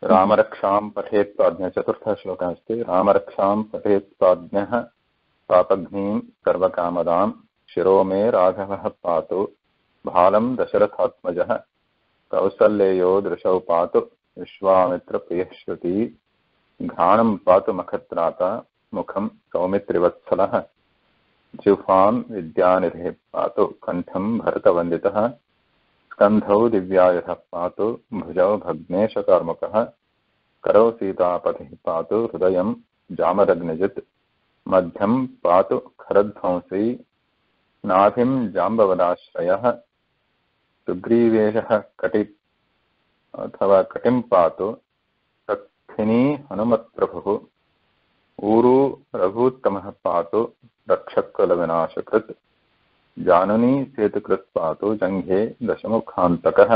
रामरक्षां पठेत् प्राज्ञः चतुर्थः श्लोकः अस्ति। रामरक्षां पठेत् प्राज्ञः पापघ्नीं सर्वकामदां शिरो मे राघवः पातु भालं दशरथात्मजः कौसल्येयो दृशौ पातु विश्वामित्रप्रियः श्रुति घ्राणं पातु मखत्राता मुखं सौमित्रिवत्सलः जिह्वां विद्यानिधिः पातु कण्ठं भरतवन्दितः स्कन्धौ दिव्यायुधः पातु भुजौ भग्नेशकार्मुकः करौ सीतापतिः पातु हृदयं जामदग्निजित् मध्यं पातु खरध्वंसी नाभिं जाम्बवदाश्रयः सुग्रीवेशः कटि अथवा कटिं पातु सक्षिणी हनुमत्प्रभुः ऊरू रघूत्तमः पातु रक्षकुलविनाशकृत् जानुनी सेतुकृत् पातु जङ्घे दशमुखान्तकः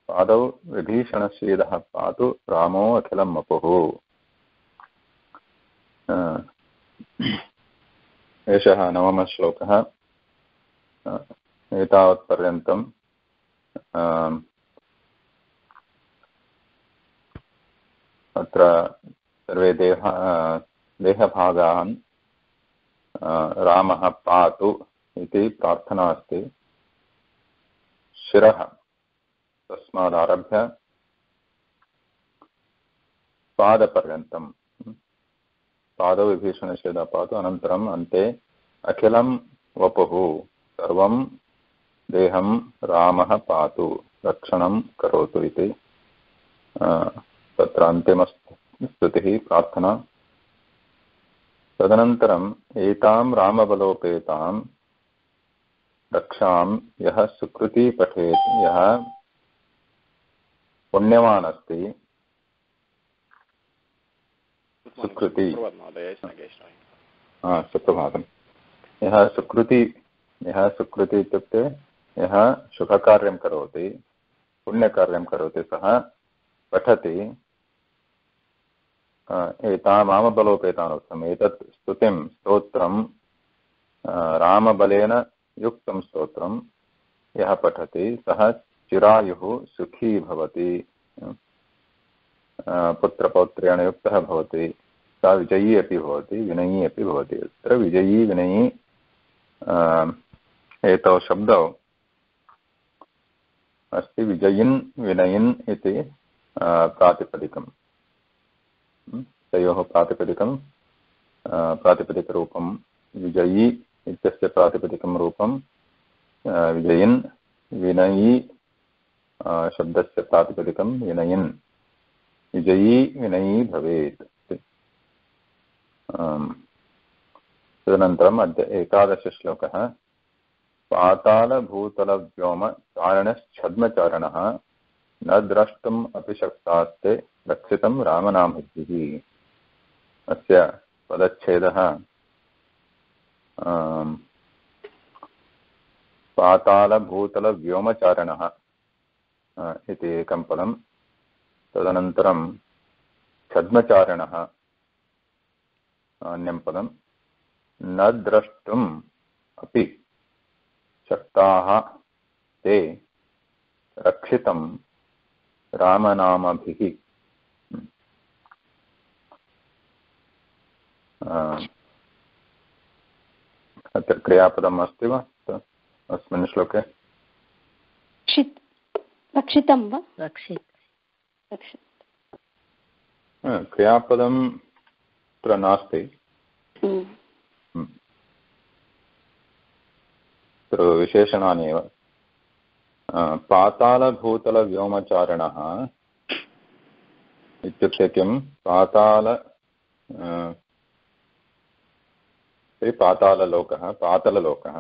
पादौ विभीषणश्रीदः पातु रामो अखिलं वपुः। एषः नवमः श्लोकः। एतावत्पर्यन्तम् अत्र सर्वे देहभागान् रामः पातु इति प्रार्थना अस्ति। शिरः तस्मादारभ्य पादपर्यन्तं पादौ विभीषणश्रीदः पातु अनन्तरम् अन्ते अखिलं वपुः सर्वं देहं रामः पातु रक्षणं करोतु इति तत्र अन्तिमस्तुतिः प्रार्थना। तदनन्तरम् एतां रामबलोपेतां रक्षां यः सुकृती पठेत् यः पुण्यवान् अस्ति सुकृति सुप्रभातं यः सुकृति इत्युक्ते यः शुभकार्यं करोति पुण्यकार्यं करोति सः पठति एतां रामबलोपेतान् उक्तम् एतत् स्तुतिं स्तोत्रं रामबलेन युक्तं स्तोत्रं यः पठति सः चिरायुः सुखी भवति पुत्रपौत्रेण युक्तः भवति सः विजयी अपि भवति विनयी अपि भवति। अत्र विजयी विनयी एतौ शब्दौ अस्ति विजयिन् विनयिन् इति प्रातिपदिकं तयोः प्रातिपदिकरूपं विजयी इत्यस्य प्रातिपदिकं रूपं विजयिन् विनयी शब्दस्य प्रातिपदिकं विनयिन् विजयी विनयी भवेत्। तदनन्तरम् अद्य 11 श्लोकः। पातालभूतलव्योमचारणश्छद्मचारणः न द्रष्टुम् अपि शक्तास्ते रक्षितं रामनामभिः। अस्य पदच्छेदः पातालभूतलव्योमचारणः इति एकं पदं। तदनन्तरं छद्मचारणः अन्यं पदं। न द्रष्टुम् अपि शक्ताः ते रक्षितं रामनामभिः। अत्र क्रियापदम् अस्ति वा अस्मिन् श्लोके? रक्षितं वा? क्रियापदं अत्र नास्ति। तत्र विशेषणानि एव। पातालभूतलव्योमचारणः इत्युक्ते किं? पाताललोकः पातललोकः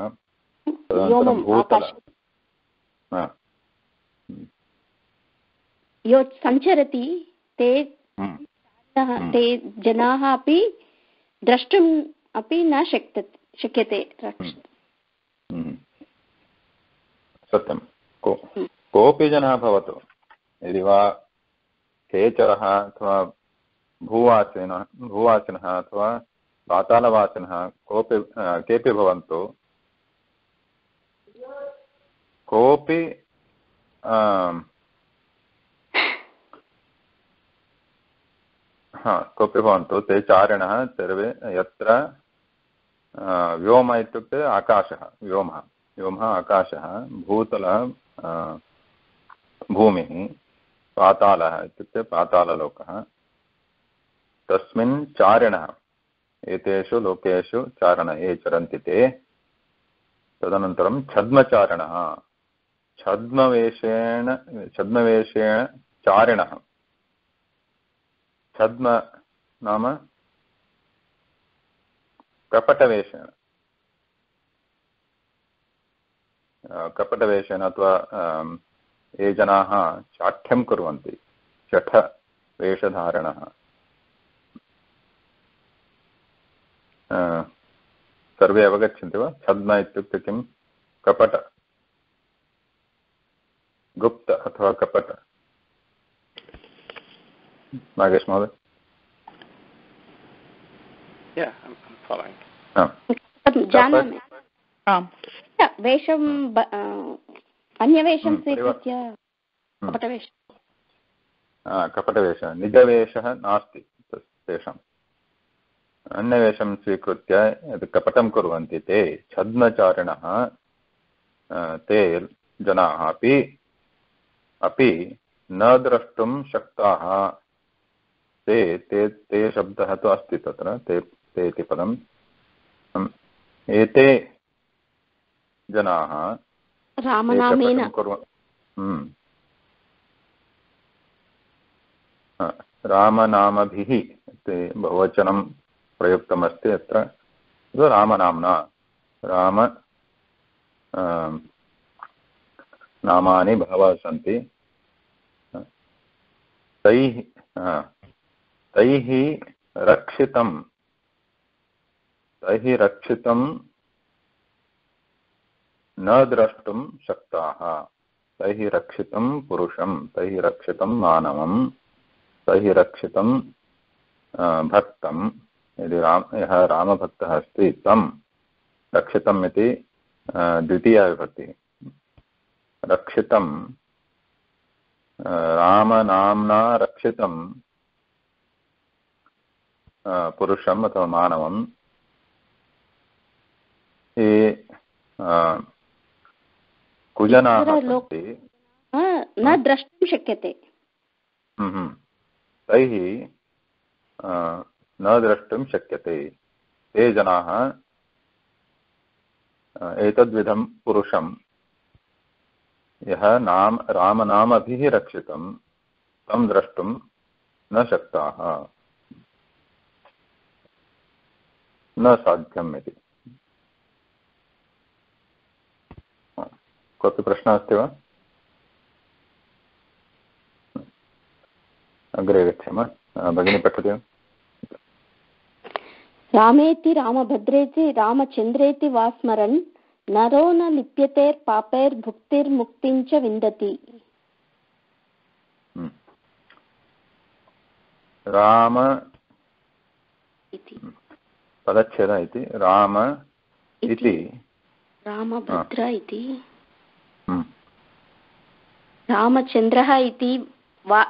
तदनन्तरं भूतल यो सञ्चरति ते ते जनाः अपि द्रष्टुम् अपि न शक्यते। सत्यं कोऽपि जनः भवतु यदि वा खेचरः अथवा भूवासिनः अथवा पातालवासिनः केऽपि भवन्तु कोऽपि कोऽपि भवन्तु ते चारिणः सर्वे यत्र व्योम इत्युक्ते आकाशः, व्योमः, व्योमः आकाशः, भूतलः भूमिः, पातालः इत्युक्ते पाताललोकः, तस्मिन् चारिणः, एतेषु लोकेषु चारणः ये चरन्ति ते, तदनन्तरं छद्मचारिणः, छद्मवेषेण चारिणः, छद्म नाम कपटवेषेण, कपटवेषेण अथवा ये जनाः चाठ्यं कुर्वन्ति, शठवेषधारिणः, सर्वे अवगच्छन्ति वा? छद्म इत्युक्ते किं? कपट, गुप्त अथवा कपट। नागेश महोदय? जानामि, वेषं अन्यवेषं स्वीकृत्य कपटवेषः, निजवेषः नास्ति तेषाम्, अन्यवेषं स्वीकृत्य यत् कपटं कुर्वन्ति ते छद्मचारिणः, ते जनाः अपि न द्रष्टुं शक्ताः, ते शब्दः तु अस्ति तत्र, ते इति पदम्, एते जनाः रामनामेन रामनामभिः इति बहुवचनं प्रयुक्तमस्ति अत्र, रामनाम्ना, राम नामानि बहवः सन्ति, तैः रक्षितं न द्रष्टुं शक्ताः, तैः रक्षितं पुरुषं, तैः रक्षितं मानवं, तैः रक्षितं भक्तं, यदि यः रामभक्तः अस्ति तं रक्षितम् इति द्वितीया विभक्तिः, रक्षितं रामनाम्ना रक्षितं पुरुषम् अथवा मानवं, ये कुजनाः सन्ति न द्रष्टुं शक्यते, तैः न द्रष्टुं शक्यते, ते जनाः एतद्विधं पुरुषं यः रामनामभिः रक्षितं तं द्रष्टुं न शक्ताः, न साध्यम् इति। कोऽपि प्रश्नः अस्ति वा? अग्रे गच्छामः। भगिनी पठति वा? रामेति रामभद्रेति रामचन्द्रेति वा स्मरन् नरो न लिप्यतेर्पापैर्भुक्तिर्मुक्तिं च विन्दति। राम पदच्छेदः इति, राम इति, रामभद्र इति, रामचन्द्रः इति वा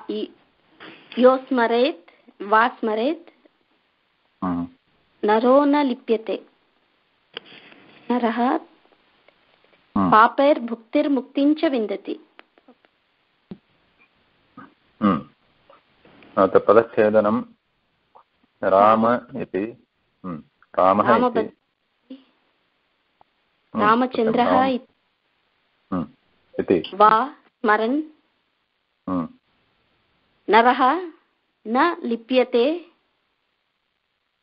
यो स्मरेत् वा स्मरेत् नरो न लिप्यते, नरः पापैर्भुक्तिर्मुक्तिं च विन्दति। पदच्छेदनं राम इति, रामः इति, रामचन्द्रः इति वा स्मरन् नरः न लिप्यते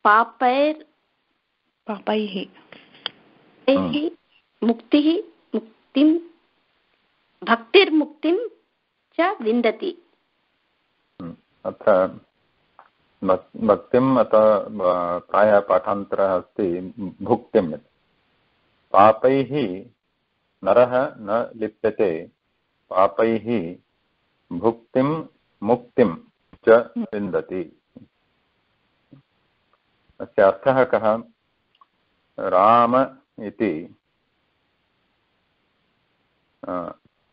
पापैः मुक्तिं भक्तिर्मुक्तिं च विन्दति। अत्र भक्तिम् अथवा प्रायः पाठान्तरः अस्ति भुक्तिम् इति। पापैः नरः न लिप्यते, पापैः भुक्तिं मुक्तिं च विन्दति। अस्य अर्थः कः? राम इति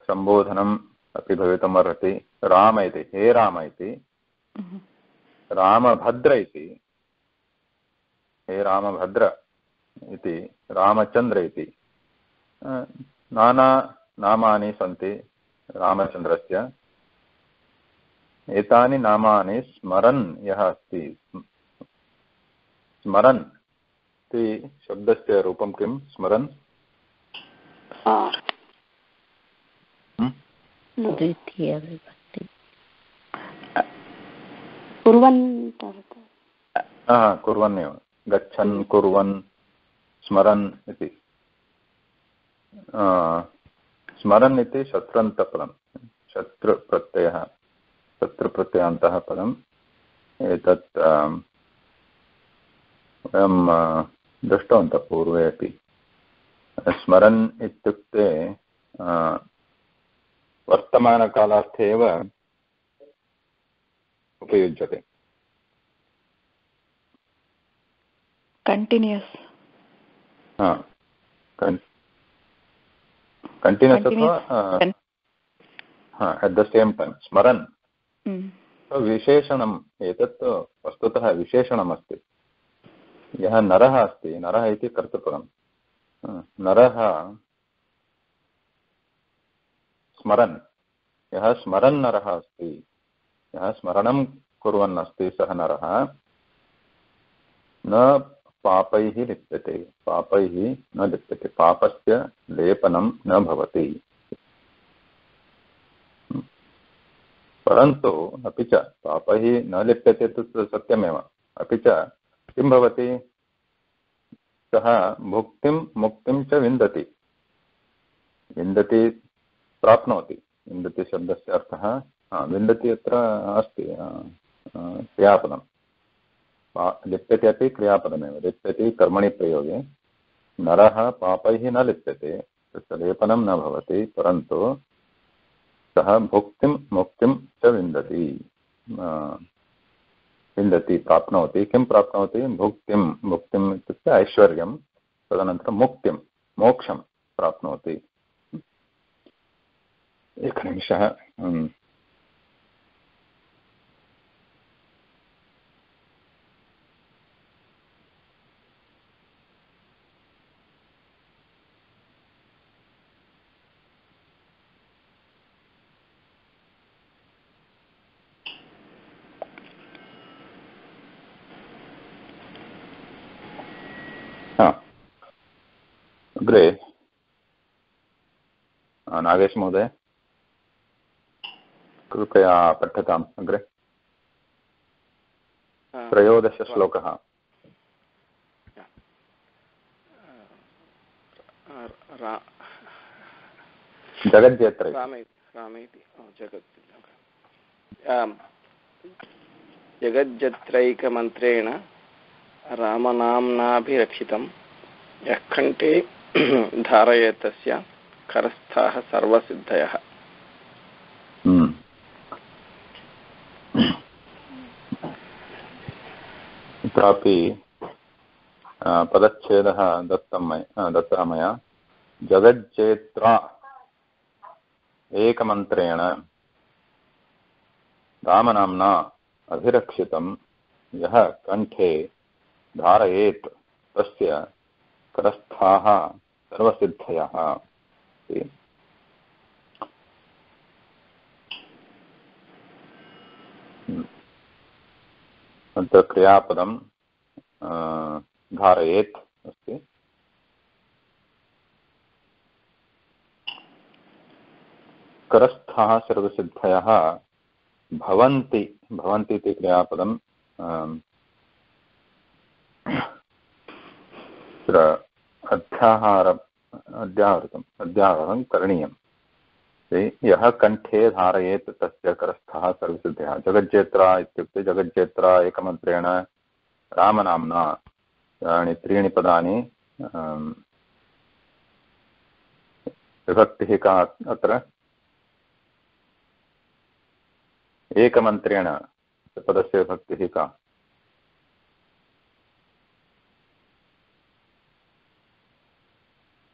सम्बोधनम् अपि भवितुम् अर्हति, राम इति, हे राम इति, रामभद्र इति, हे रामभद्र इति, रामचन्द्र इति नाना नामानि सन्ति रामचन्द्रस्य। एतानि नामानि स्मरन् यः अस्ति, स्मरन् इति शब्दस्य रूपं किं? स्मरन् कुर्वन्नेव, गच्छन् कुर्वन् स्मरन् इति। स्मरन् इति शत्रन्तपदं, शत्रुप्रत्ययः, शत्रुप्रत्ययान्तः पदम्। एतत् वयं दृष्टवन्तः पूर्वे अपि। स्मरन् इत्युक्ते वर्तमानकालार्थे एव उपयुज्यते। कण्टिन्यूस् कण्टिन्यूस् अथवा एट् द सेम् टैम् स्मरन् विशेषणम्। एतत् वस्तुतः विशेषणमस्ति। यः नरः अस्ति, नरः इति कर्तृपदं, नरः स्मरन्, यः स्मरन् नरः अस्ति, यः स्मरणं कुर्वन् अस्ति, सः नरः न पापैः लिप्यते, पापैः न लिप्यते, पापस्य लेपनं न भवति। परन्तु अपि च पापैः न लिप्यते तु सत्यमेव, अपि च किं भवति, सः भुक्तिं मुक्तिं च विन्दति, विन्दति प्राप्नोति। विन्दति शब्दस्य अर्थः विन्दति अत्र अस्ति क्रियापदं, लिप्यते अपि क्रियापदमेव, लिप्यति कर्मणि प्रयोगे। नरः पापैः न लिप्यते, तस्य लेपनं न भवति, परन्तु सः भुक्तिं मुक्तिं च विन्दति, विन्दति प्राप्नोति। किं प्राप्नोति? भुक्तिं, मुक्तिम् इत्युक्ते ऐश्वर्यं, तदनन्तरं मुक्तिं, मोक्षं प्राप्नोति। एकनिमिषः। अग्रे नागेश महोदय कृपया पठताम्। अग्रे 13 श्लोकः। जगज्जेत्रै जगज्जत्रैकमन्त्रेण रामनाम्नाभिरक्षितं यः कण्ठे धारयेतस्य करस्थाः सर्वसिद्धयः। अत्रापि पदच्छेदः दत्तः मया। जगज्जेत्रा एकमन्त्रेण रामनाम्ना अभिरक्षितं यः कण्ठे धारयेत् तस्य करस्थाः सर्वसिद्धयः। अत्र क्रियापदं धारयेत् अस्ति। करस्थाः सर्वसिद्धयः भवन्ति, भवन्ति इति क्रियापदं अध्याहारं करणीयं। यः कण्ठे धारयेत् तस्य करस्थः सर्वसिद्धयः। जगज्जेत्रा इत्युक्ते जगज्जेत्रा एकमन्त्रेण रामनाम्ना, त्रीणि पदानि। विभक्तिः का अत्र? एकमन्त्रेण पदस्य विभक्तिः का?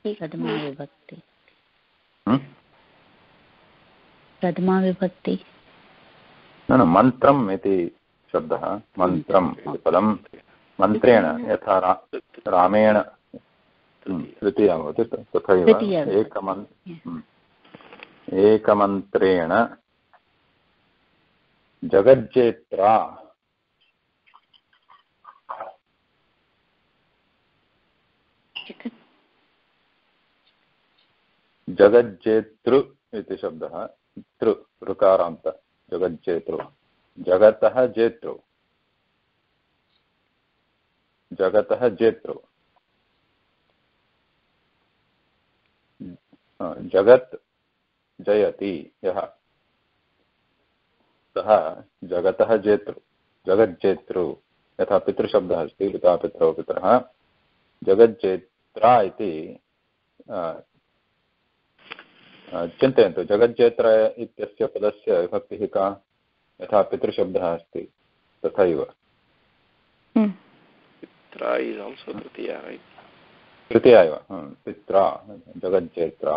प्रथमा विभक्ति। प्रथमा विभक्ति। न मन्त्रम् इति शब्दः मन्त्रम् इति पदं मन्त्रेण यथा रामेण तृतीया भवति तथैव एकमन्त्रेण जगज्जेत्रा जगज्जेतृ इति शब्दः तृ ऋकारान्त जगज्जेतृ जगतः जेतृ जगतः जेतृ जगत् जयति यः सः जगतः जेतृ जगज्जेतृ यथा पितृशब्दः अस्ति पिता पितरौ पितरः जगज्जेत्रा इति चिन्तयन्तु जगज्जेत्र इत्यस्य पदस्य विभक्तिः का यथा पितृशब्दः अस्ति तथैव तृतीया एव पित्रा जगज्जेत्रा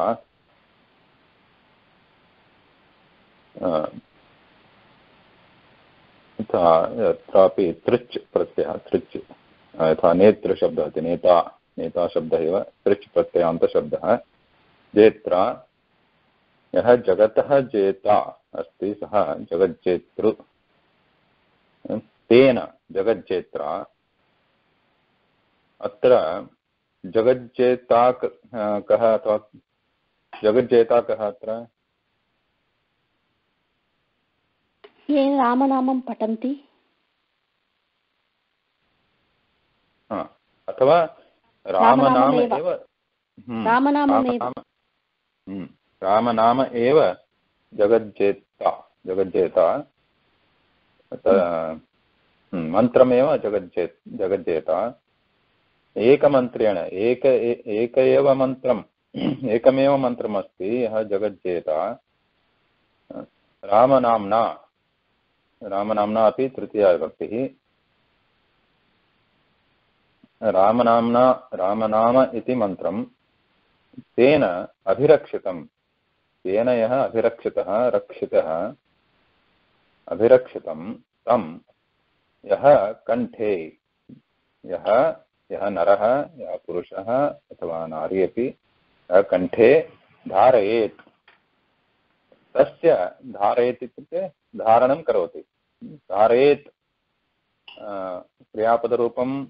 यथा यत्रापि तृच् प्रत्ययः तृच् यथा नेतृशब्दः अस्ति नेता नेता शब्दः एव तृच् प्रत्ययान्तशब्दः जेत्रा यः जगतः जेता अस्ति सः जगज्जेतृ तेन जगज्जेत्रा अत्र जगज्जेता कः अथवा जगज्जेता कः अत्र ये रामनामं पठन्ति अथवा रामनाम एव जगज्जेता जगज्जेता मन्त्रमेव जगज्जेता एकमन्त्रेण एकमेव मन्त्रमस्ति यः जगज्जेता रामनाम्ना अपि तृतीया विभक्तिः रामनाम इति मन्त्रं तेन अभिरक्षितं तेन यः अभिरक्षितः अभिरक्षितं तं यः कण्ठे यः नरः यः पुरुषः अथवा नारी अपि कण्ठे धारयेत् तस्य धारयेत् इत्युक्ते धारणं करोति धारयेत् क्रियापदरूपं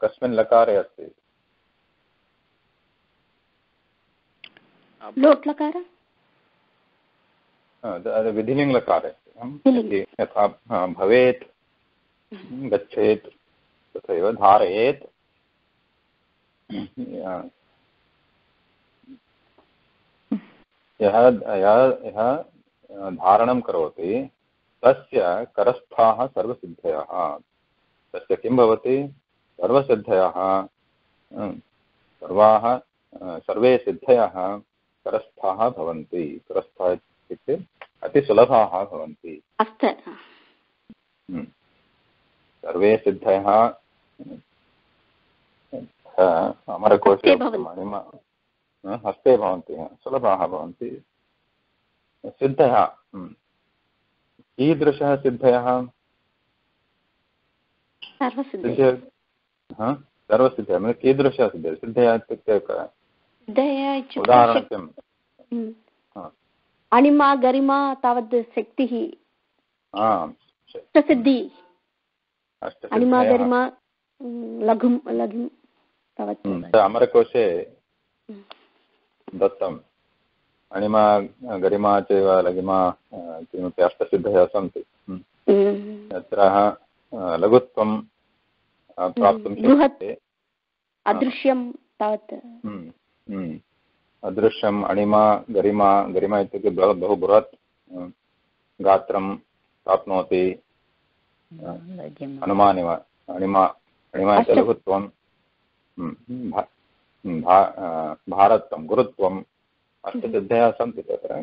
कस्मिन् लकारे अस्ति लोट् लकार विधिलिङ्गलकारे यथा भवेत् गच्छेत् तथैव धारयेत् यः धारणं करोति तस्य करस्थाः सर्वसिद्धयः तस्य किं भवति सर्वसिद्धयः सर्वे सिद्धयः करस्थाः भवन्ति करस्थाः इत्युक्ते अतिसुलभाः भवन्ति सर्वे सिद्धयः अमरकोशे हस्ते भवन्ति सुलभाः भवन्ति सिद्धयः कीदृशः सिद्धयः सर्वसिद्धयः कीदृशः सिद्धयः सिद्धयः इत्युक्ते उदाहरणं किम् अणिमा गरिमा तावत् शक्तिः सिद्धिः अणिमा गरिमा लघुं तावत् अमरकोशे दत्तम् अणिमा गरिमा चैव लघिमा किमपि अष्टसिद्धयः सन्ति तत्र लघुत्वं प्राप्तुं शक्यते अदृश्यं तावत् अदृश्यम् अणिमा गरिमा इत्युक्ते बहु बृहत् गात्रं प्राप्नोति अनुमानिव अणिमा इति लघुत्वं भारत्वं गुरुत्वम् अष्टसिद्धयः सन्ति तत्र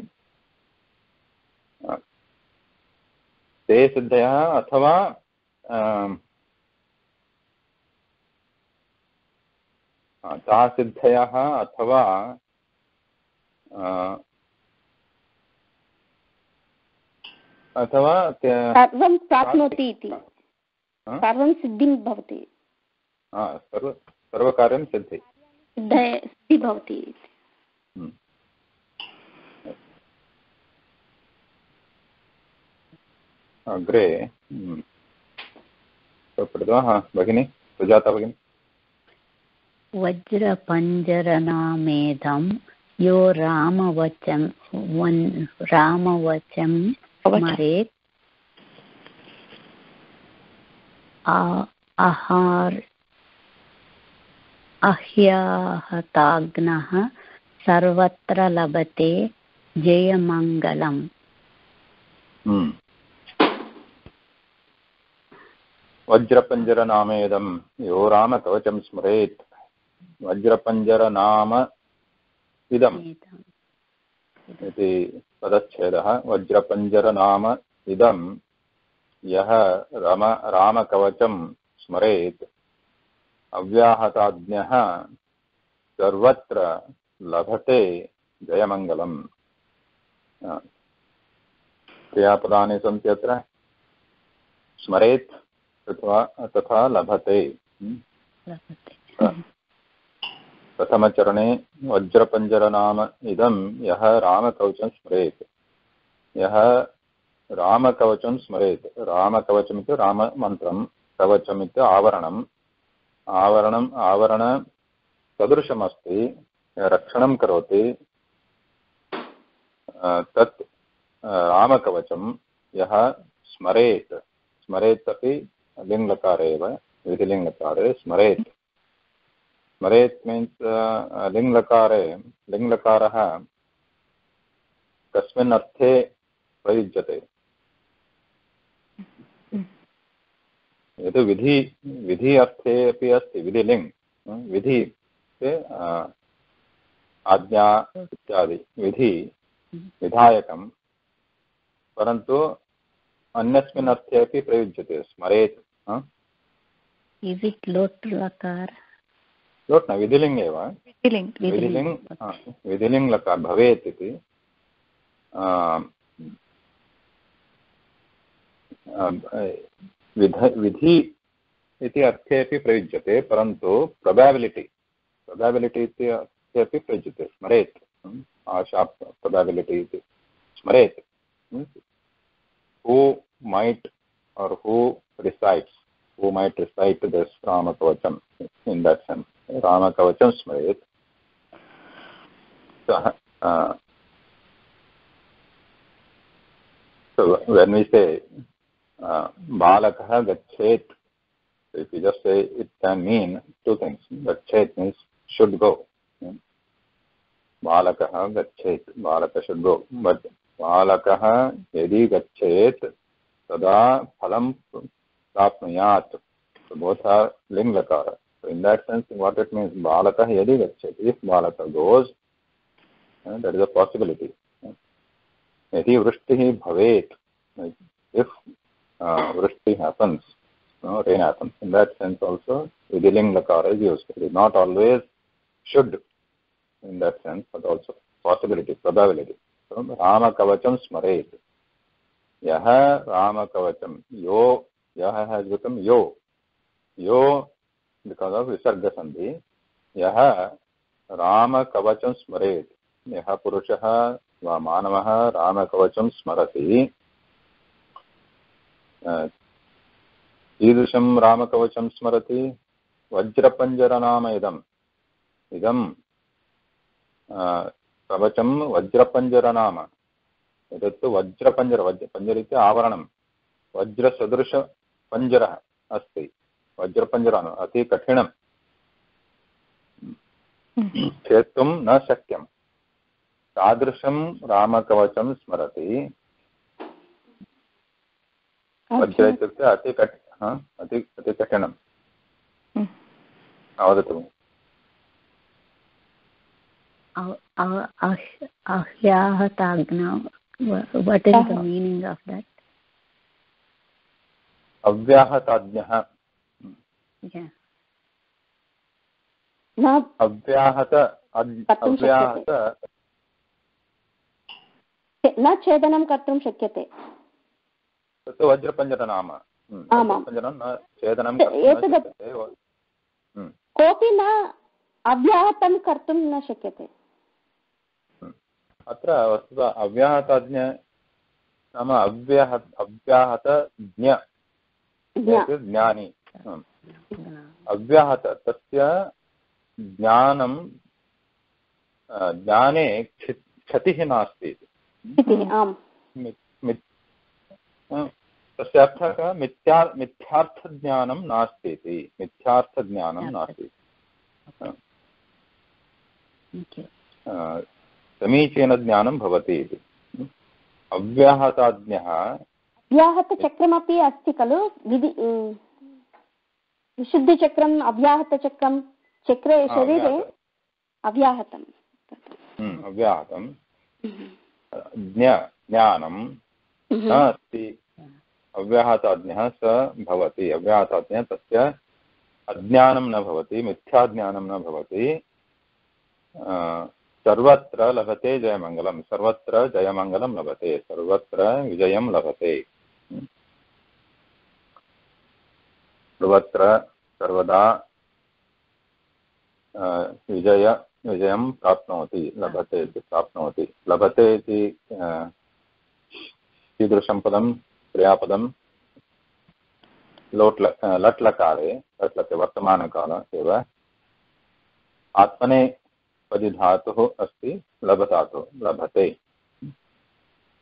ते सिद्धयः अथवा ताः सिद्धयः अथवा अथवा सर्वं प्राप्नोति इति, सर्वं सिद्धिं भवति, सर्वकार्यं सिद्धि भवति। अग्रे भगिनी सुजाता भगिनी। वज्रपञ्जरनामेदं यो रामवचं स्मरेत् अह्याहताग्नः सर्वत्र लभते जयमङ्गलम्। वज्रपञ्जरनामेदं यो रामकवचं स्मरेत्। वज्रपञ्जरनाम इदम् इति पदच्छेदः। वज्रपञ्जरनाम इदं यः रामकवचं स्मरेत् अव्याहताज्ञः सर्वत्र लभते जयमङ्गलम्। क्रियापदानि सन्ति अत्र, स्मरेत् तथा लभते। प्रथमचरणे वज्रपञ्जरनाम इदं यः रामकवचं स्मरेत्, यः रामकवचं स्मरेत्। रामकवचमिति राममन्त्रं, कवचमिति आवरणम्, आवरणसदृशमस्ति, रक्षणं करोति, तत् रामकवचं यः स्मरेत्। स्मरेत् अपि लिङ्लकारे एव, विधिलिङ्लकारे स्मरेत्। स्मरेत् मीन्स् लिङ्लकारः कस्मिन् अर्थे प्रयुज्यते? यद् विधि अर्थे अपि अस्ति, विधिलिङ्, विधि आज्ञा इत्यादि विधायकं, परन्तु अन्यस्मिन् अर्थे अपि प्रयुज्यते स्मरेत्। लोट् न, विधिलिङ्ग् एव, विधिलिङ्ग् लकार भवेत् इति। विधि इति अर्थे अपि प्रयुज्यते, परन्तु प्रोबेबिलिटि इति अर्थे अपि प्रयुज्यते स्मरेत्। आशा प्रोबेबिलिटि इति स्मरेत् means who might or who recites who might recite this Ramakavacham. In that sense, Ramakavacham smaret. So when we say Balakah Gachet, if you just say, it can mean two things. Gachet means should go. Balakah Gachet, Balaka should go. But Balakah yadi Gachet tada phalam prapnuyat. So both are ling lakara. So in that sense, what it means, Balakah yadi Gachet. If Balaka goes, that is a possibility. Yadi vrishtihi bhavet. If vrishti happens, rain happens. In that sense also, vidhiling lakara is used. It is not always should in that sense, but also possibility, probability. So Rama Kavacham smaret. Yaha Rama Kavacham. Yo, Yaha has become Yo. Yo because of Visarga Sandhi. Yaha Rama Kavacham smaret. Yaha Purushaha va Manavaha Rama Kavacham smarati. ईदृशं रामकवचं स्मरति वज्रपञ्जरनाम इदं कवचं वज्रपञ्जरनाम एतत्तु वज्रपञ्जर इति आवरणं वज्रसदृशपञ्जरः अस्ति वज्रपञ्जरम् अति कठिनं छेत्तुं न शक्यं तादृशं रामकवचं स्मरति वज्र इत्युक्ते अति कठिनं वदतु Ahyahatagna, what is the meaning of that? Avyahatagnyah. न छेदनं कर्तुं शक्यते तत्तु वज्रपञ्जरनाम। वज्रपञ्जरं न छेदनं कोऽपि न अव्याहतं कर्तुं न शक्यते। अत्र वस्तुतः अव्याहतज्ञ नाम अव्याहतज्ञ ज्ञानी अव्याहत तस्य ज्ञानं ज्ञाने क्षतिः नास्ति। तस्य अर्थः कः? मिथ्यार्थज्ञानं नास्ति इति। मिथ्यार्थज्ञानं नास्ति, समीचीनज्ञानं भवति इति। अव्याहताज्ञः अव्याहतचक्रमपि अस्ति खलु, विशुद्धिचक्रम् अव्याहतचक्रं, चक्रे शरीरे अव्याहतं अव्याहतं ज्ञानं न अस्ति। अव्याहताज्ञः स भवति। अव्याहताज्ञः तस्य अज्ञानं न भवति, मिथ्याज्ञानं न भवति। सर्वत्र लभते जयमङ्गलं, सर्वत्र जयमङ्गलं लभते, सर्वत्र विजयं लभते। सर्वत्र सर्वदा विजयं प्राप्नोति, लभते इति प्राप्नोति। लभते इति कीदृशं पदं? क्रियापदं लट्लकारे, लट्लके वर्तमानकाल एव। आत्मनेपदी धातुः अस्ति, लभधातुः, लभते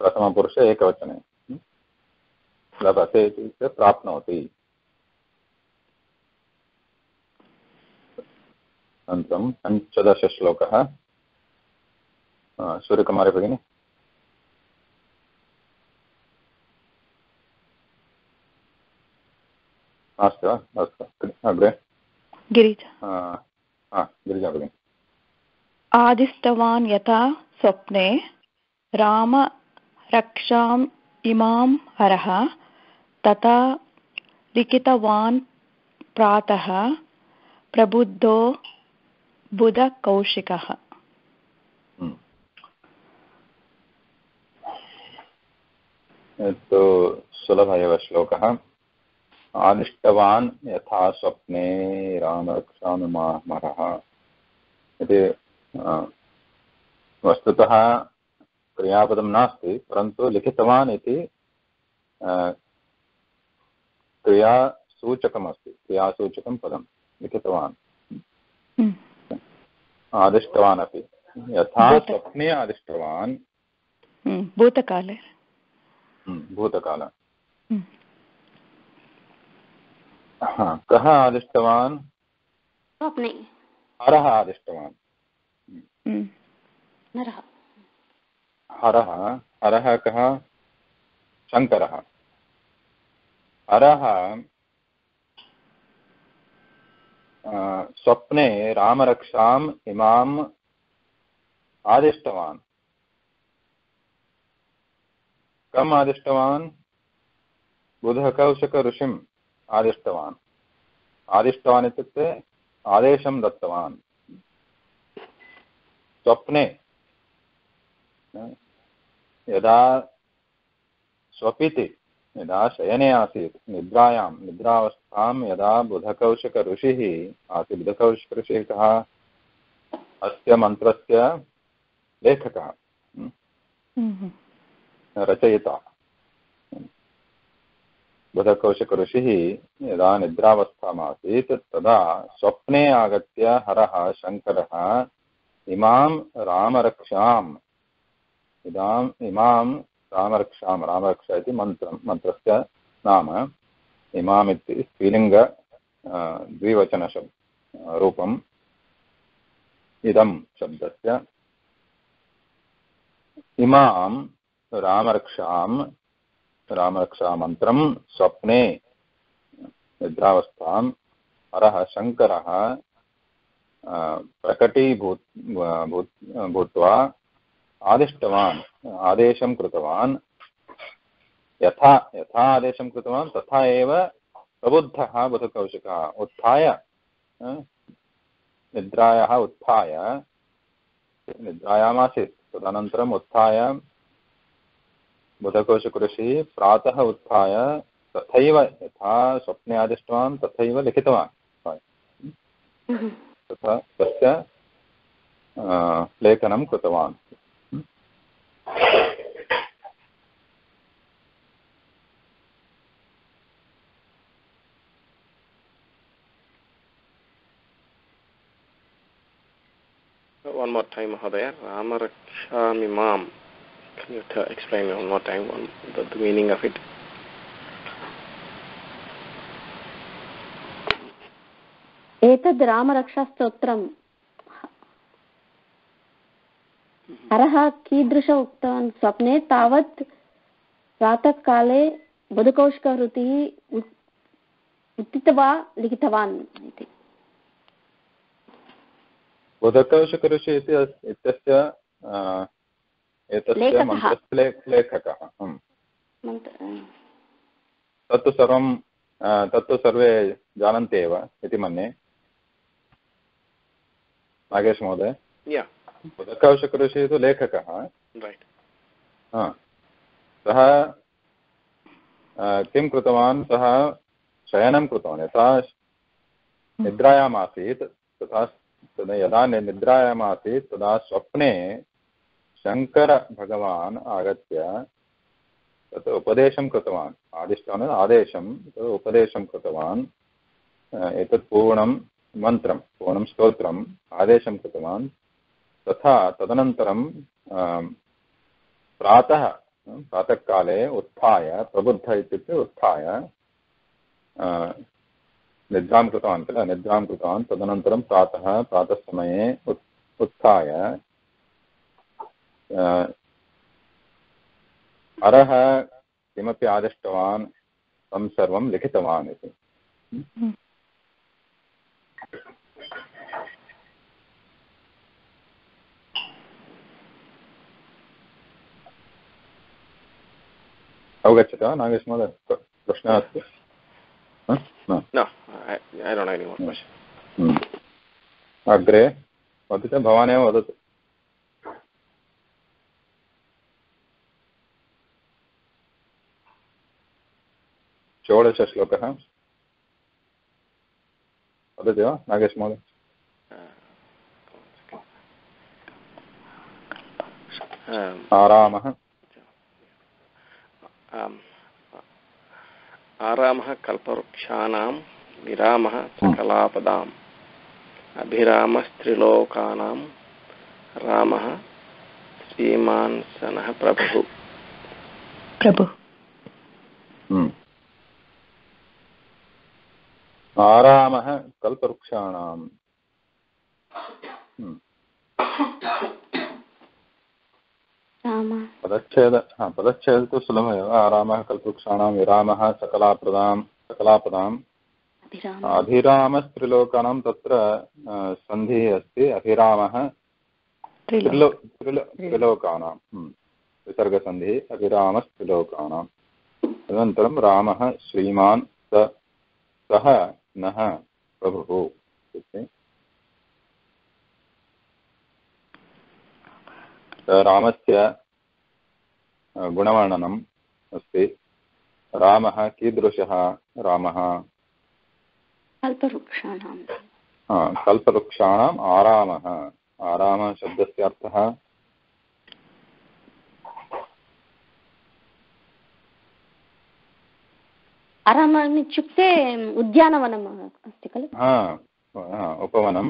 प्रथमपुरुषे एकवचने। लभते इत्युक्ते प्राप्नोति। अनन्तरं 15 श्लोकः। सूर्यकुमारी भगिनी। अस्तु अस्तु, अग्रे गिरिजा भगिनी। आदिष्टवान् यथा स्वप्ने राम रक्षाम् इमां हरः तथा लिखितवान् प्रातः प्रबुद्धो बुधकौशिकः। सुलभ एव श्लोकः। आदिष्टवान् यथा स्वप्ने रामरक्षानुमाहरः इति वस्तुतः क्रियापदं नास्ति, परन्तु लिखितवान् इति क्रियासूचकमस्ति, क्रियासूचकं पदं लिखितवान्। आदिष्टवान् अपि यथा स्वप्ने आदिष्टवान्, भूतकाले, भूतकाल। कः आदिष्टवान्? स्वप्ने हरः आदिष्टवान्। हरः, हरः कः? शङ्करः। हरः स्वप्ने रामरक्षाम् इमाम् आदिष्टवान्। कम् आदिष्टवान्? बुधकौशिक ऋषिम् आदिष्टवान्। आदिष्टवान् इत्युक्ते आदेशं दत्तवान्। स्वप्ने यदा स्वपिति, यदा शयने आसीत्, निद्रावस्थां यदा बुधकौशिक ऋषिः आसीत्। बुधकौशिक ऋषिः कः? अस्य मन्त्रस्य लेखकः, रचयिता। बुधकौशिक ऋषिः यदा निद्रावस्थामासीत् तदा स्वप्ने आगत्य हरः शङ्करः इमां रामरक्षाम्, इमां रामरक्षां, रामरक्षा इति मन्त्रस्य नाम। इमाम् इति स्त्रीलिङ्ग द्विवचनरूपम् इदं शब्दस्य। इमां रामरक्षां, रामरक्षामन्त्रं स्वप्ने निद्रावस्थां हरः शङ्करः भूत्वा आदिष्टवान्, आदेशं कृतवान्। यथा आदेशं कृतवान् तथा एव प्रबुद्धः बुधकौशिकः उत्थाय, निद्रायाः उत्थाय, निद्रायामासीत्, तदनन्तरम् उत्थाय बुधकोशकृषिः प्रातः उत्थाय तथैव यथा स्वप्ने आदिष्टवान् तथैव लिखितवान्, तथा तस्य लेखनं कृतवान्। One more time, Mahodaya. Rama Rakshami Mam. Can you explain one more time the meaning of it? एतद् रामरक्षास्तोत्रम् हरः कीदृश उक्तवान् स्वप्ने तावत् प्रातःकाले बुधकोशकृतिः उत्थित्वा लिखितवान् इति। बुधकोशकृषि इत्यस्य एतस्य मन्त्रस्य लेखकः। तत्तु सर्वे जानन्ति एव इति मन्ये। नागेश महोदय, बुधकोशकृषि तु लेखकः। सः किं कृतवान्, सः शयनं कृतवान्। यथा निद्रायाम् आसीत् तथा यदा निद्रायाम् आसीत् तदा स्वप्ने शङ्करभगवान् आगत्य तत् उपदेशं कृतवान्, आदिष्टवान् आदेशं उपदेशं कृतवान्। एतत् पूर्णं मन्त्रं, पूर्णं स्तोत्रम् आदेशं कृतवान्। तथा तदनन्तरं प्रातःकाले उत्थाय, प्रबुद्ध इत्युक्ते उत्थाय निद्रां कृतवान् किल, निद्रां कृतवान्। तदनन्तरं प्रातःसमये उत्थाय हरः किमपि आदिष्टवान् तं सर्वं लिखितवान् इति। अवगच्छति वा नागेश महोदय? प्रश्नः अस्ति? No, I don't have any more question. अग्रे वदति, भवानेव वदतु। षोडशश्लोकः वदति वा नागेश महोदय? आरामः आरामः कल्पवृक्षाणां विरामः सकलापदाम् अभिरामस्त्रिलोकानां रामः श्रीमान् सनः प्रभुः। आरामः कल्पवृक्षाणां। पदच्छेद तु सुलभमेव। आरामः कल्पवृक्षाणां विरामः सकलापदाम् अभिरामस्त्रिलोकानां। तत्र सन्धिः अस्ति, अभिरामः त्रिलोकानां, विसर्गसन्धिः अभिरामस्त्रिलोकानां। तदनन्तरं रामः श्रीमान् सः नः प्रभुः इत्युक्ते रामस्य गुणवर्णनम् अस्ति। रामः कीदृशः? रामः कल्पवृक्षाणाम् आरामः। आरामः शब्दस्य अर्थः आरामम् इत्युक्ते उद्यानवनम् अस्ति खलु? उपवनं।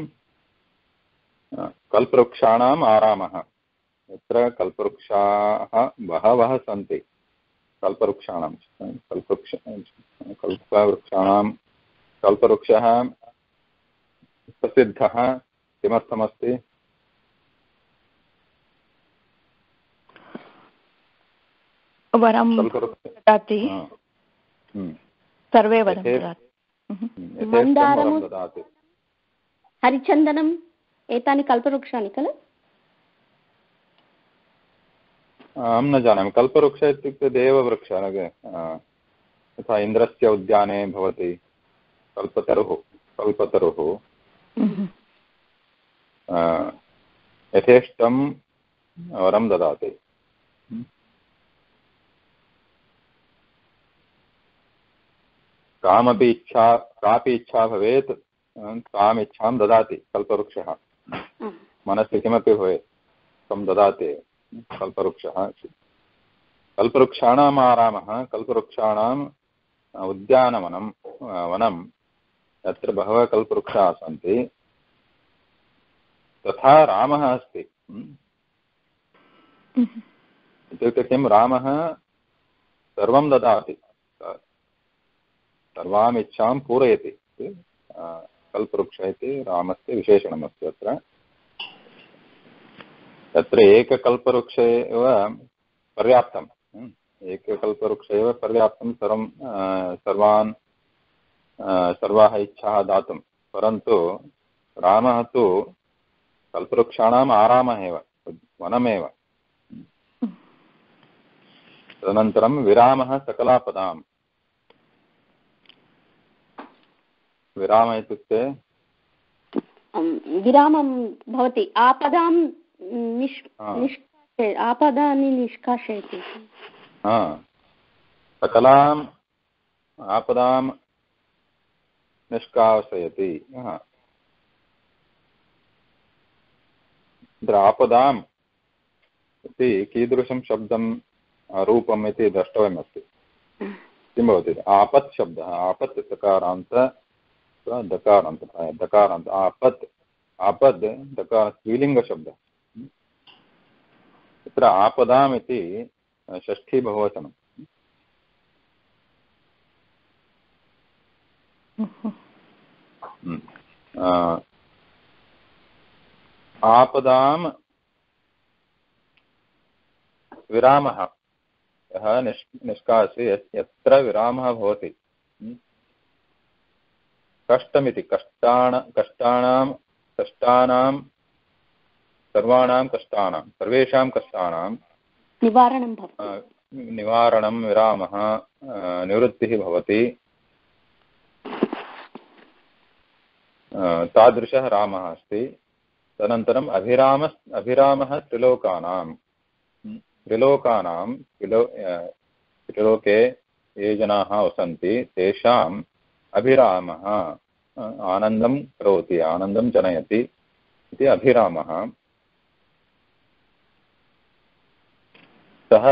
कल्पवृक्षाणाम् आरामः, यत्र कल्पवृक्षाः बहवः सन्ति। कल्पवृक्षः प्रसिद्धः किमर्थमस्ति? वरं ददाति, सर्वे वरं ददाति। मन्दारं, हरिचन्दनम् एतानि कल्पवृक्षाणि खलु? अहं न जानामि। कल्पवृक्ष इत्युक्ते देववृक्षः, यथा इन्द्रस्य उद्याने भवति कल्पतरुः। यथेष्टं वरं ददाति। कापि इच्छा भवेत् ताम् इच्छां ददाति कल्पवृक्षः। मनसि किमपि भवेत् तं ददाति कल्पवृक्षः। कल्पवृक्षाणाम् आरामः, कल्पवृक्षाणाम् उद्यानवनं वनं यत्र बहवः कल्पवृक्षाः सन्ति तथा रामः अस्ति। इत्युक्ते किं, रामः सर्वं ददाति, सर्वाम् इच्छां पूरयति। कल्पवृक्ष इति रामस्य विशेषणमस्ति अत्र। तत्र एककल्पवृक्ष एव पर्याप्तम्, एककल्पवृक्ष एव पर्याप्तं सर्वाः इच्छाः दातुं। परन्तु रामः तु कल्पवृक्षाणाम् आरामः एव, वनमेव। तदनन्तरं विरामः सकलापदाम्। विराम इत्युक्ते विरामं भवति, आपदां आपदानि निष्कासयति। सकलाम् आपदां निष्कासयति। आपदाम् इति कीदृशं शब्दं रूपम् इति द्रष्टव्यमस्ति। किं भवति? आपत् शब्दः, आपत् दकारान्त दकारान्त आपत्, आपद् दकार स्त्रीलिङ्गशब्दः। तत्र आपदाम् इति षष्ठी बहुवचनं। आपदां विरामः यः निष्कास्य यत्र विरामः भवति। कष्टमिति कष्टानां सर्वाणां कष्टानां सर्वेषां कष्टानां निवारणं विरामः निवृत्तिः भवति। तादृशः रामः अस्ति। तदनन्तरम् अभिरामः त्रिलोकानां त्रिलोके ये जनाः वसन्ति तेषाम् अभिरामः आनन्दं करोति, आनन्दं जनयति इति अभिरामः। सः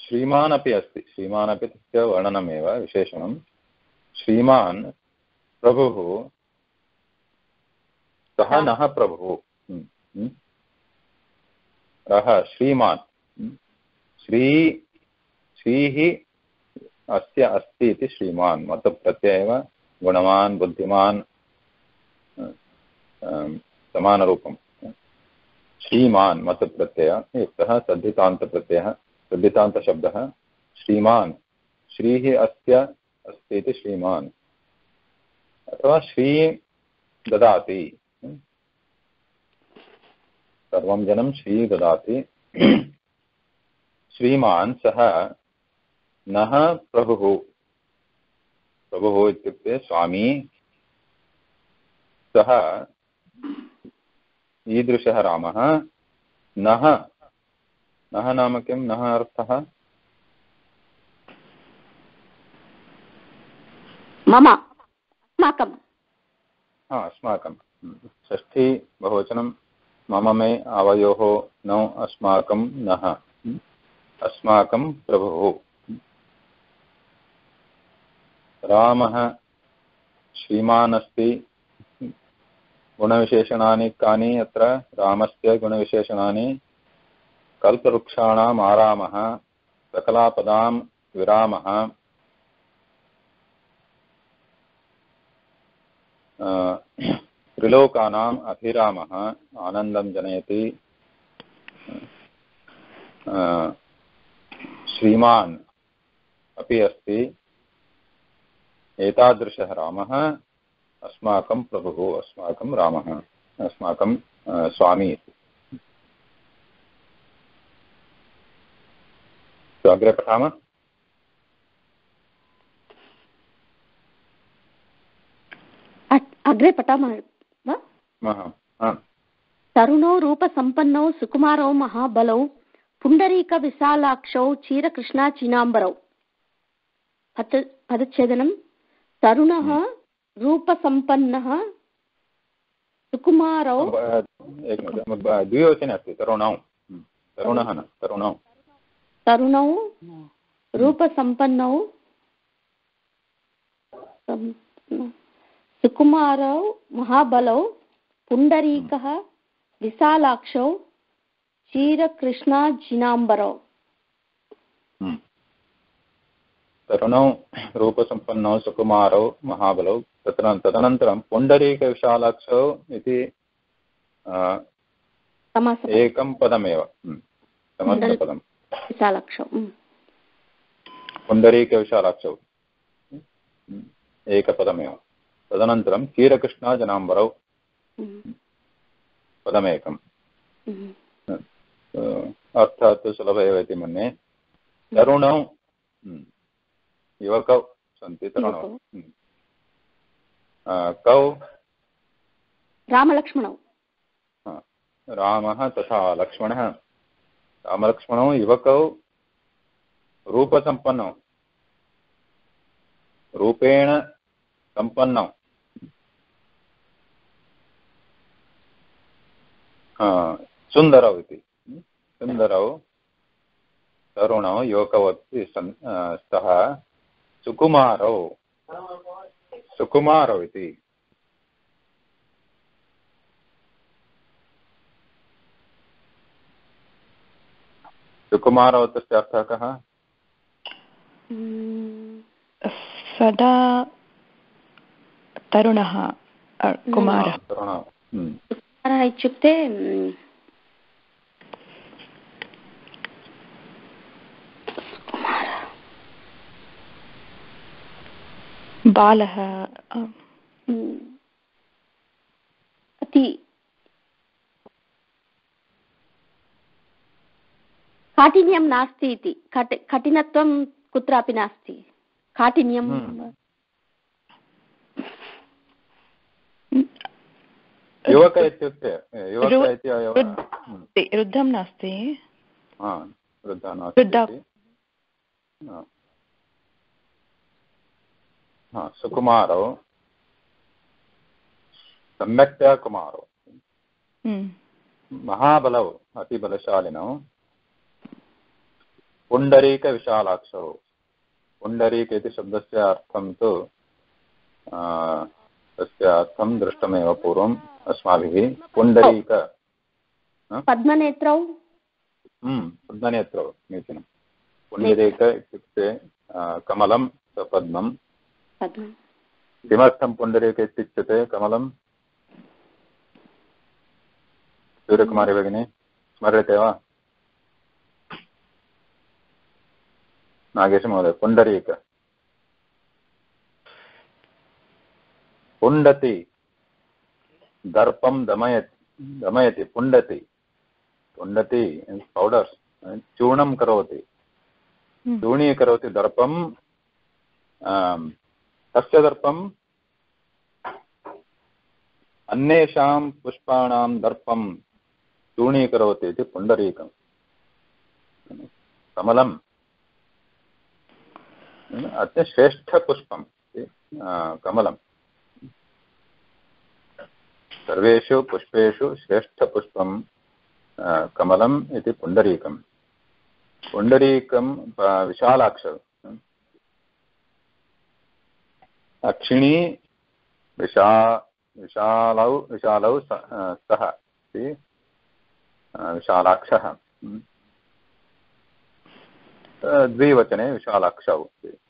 श्रीमान् अपि अस्ति। श्रीमान् अपि तस्य वर्णनमेव विशेषणं। श्रीमान् प्रभुः, सः नः प्रभुः। रः श्रीमान्, श्रीः अस्य अस्ति इति श्रीमान् मतप्रत्यय एव। गुणवान् बुद्धिमान् समानरूपं। श्रीमान् मतप्रत्यय युक्तः सद्धितान्तप्रत्ययः, सद्धितान्तशब्दः श्रीमान्। श्रीः अस्य अस्ति इति श्रीमान्, अथवा श्री ददाति। सर्वं जनं श्री ददाति। श्रीमान् सः नः प्रभुः। प्रभुः इत्युक्ते स्वामी। सः ईदृशः रामः। नः, नः नाम किं? नः अर्थः मम, अस्माकं। अस्माकं। षष्ठी बहुवचनं मम मे आवयोः नौ अस्माकं नः। अस्माकं प्रभुः। रामः श्रीमान् अस्ति। गुणविशेषणानि कानि अत्र? रामस्य गुणविशेषणानि कल्पवृक्षाणाम् आरामः, सकलापदां विरामः, त्रिलोकानाम् अभिरामः, आनन्दं जनयति। श्रीमान् अपि अस्ति। एतादृशः रामः अस्माकं प्रभुः, अस्माकं रामः, अस्माकं स्वामी। तो अग्रे पठामः। अग्रे पठामः वा? तरुणौ रूपसम्पन्नौ सुकुमारौ महाबलौ पुण्डरीकविशालाक्षौ क्षीरकृष्णाचीनाम्बरौ। पदच्छेदनं तरुणः रूपसम्पन्नः सुकुमारौ द्विवचने अस्ति तरुणौ तरुणः न तरुणौ तरुणौ रूपसम्पन्नौ सुकुमारौ महाबलौ पुण्डरीकः विशालाक्षौ क्षीरकृष्णाजिनाम्बरौ तरुणौ रूपसम्पन्नौ सुकुमारौ महाबलौ तदनन्तरं पुण्डरीकविशालाक्षौ इति एकं पदमेव समस्तपदं विशालाक्षौ पुण्डरीकविशालाक्षौ एकपदमेव तदनन्तरं क्षीरकृष्णाजनाम्बरौ पदमेकम् अर्थात् तु सुलभ एव इति मन्ये तरुणौ युवकौ सन्ति तरुणौ कौ रामलक्ष्मणौ रामः तथा लक्ष्मणः रामलक्ष्मणौ युवकौ रूपसम्पन्नौ रूपेण सम्पन्नौ सुन्दरौ इति सुन्दरौ तरुणौ युवकौ अपि स्तः सुकुमारौ सुकुमारौ इति सुकुमारौ तस्य अर्थः कः सदा तरुणः कुमारः कुमारः इत्युक्ते बालः अति काठिन्यं नास्ति इति कठिनत्वं कुत्रापि नास्ति काठिन्यं युवक इत्युक्ते वृद्धं नास्ति वृद्धः नास्ति सुकुमारौ सम्यक्तया कुमारौ महाबलौ अतिबलशालिनौ पुण्डरीकविशालाक्षौ पुण्डरीक इति शब्दस्य अर्थं तु तस्य अर्थं दृष्टमेव पूर्वम् अस्माभिः पुण्डरीक पद्मनेत्रौ पद्मनेत्रौ समीचीनं पुण्डरीक इत्युक्ते कमलं पद्मं किमर्थं पुण्डरीक इत्युच्यते कमलं सूर्यकुमारी भगिनी स्मर्यते वा नागेशमहोदय पुण्डरीक पुण्डति दर्पं दमयति पुण्डति पुण्डति पौडर् चूर्णं करोति चूर्णीकरोति दर्पं तस्य दर्पं अन्येषां पुष्पाणां दर्पं चूर्णीकरोति इति पुण्डरीकं कमलम् अत्य श्रेष्ठपुष्पं कमलं सर्वेषु पुष्पेषु श्रेष्ठपुष्पं कमलम् इति पुण्डरीकं पुण्डरीकं विशालाक्ष अक्षिणी विशालौ सः इति विशालाक्षः द्विवचने विशालाक्षौ